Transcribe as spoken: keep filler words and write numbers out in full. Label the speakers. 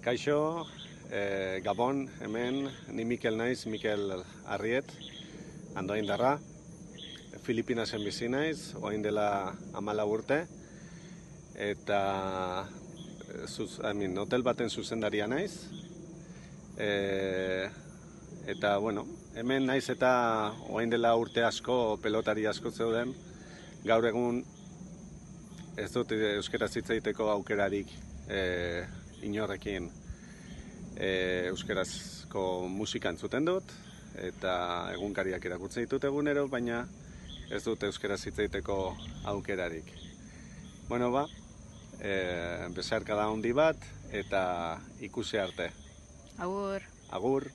Speaker 1: Kaixo, e, Gabon, hemen, ni Mikel naiz, Mikel Arriet, Andoaindarra. Filipinasen bizi naiz, orain dela hamalau urte, eta zuz, I mean, hotel baten zuzendaria naiz. E, eta, bueno, hemen naiz eta orain dela urte asko, pelotari asko zeuden, gaur egun ez dut euskaraz hitz egiteko aukerarik e, inorrekin e, euskarazko musika entzuten dut, eta egunkariak irakurtzen ditut egunero, baina ez dut euskaraz hitz egiteko aukerarik. Bueno, ba, e, besarkada handi bat, eta ikusi arte.
Speaker 2: Agur.
Speaker 1: Agur.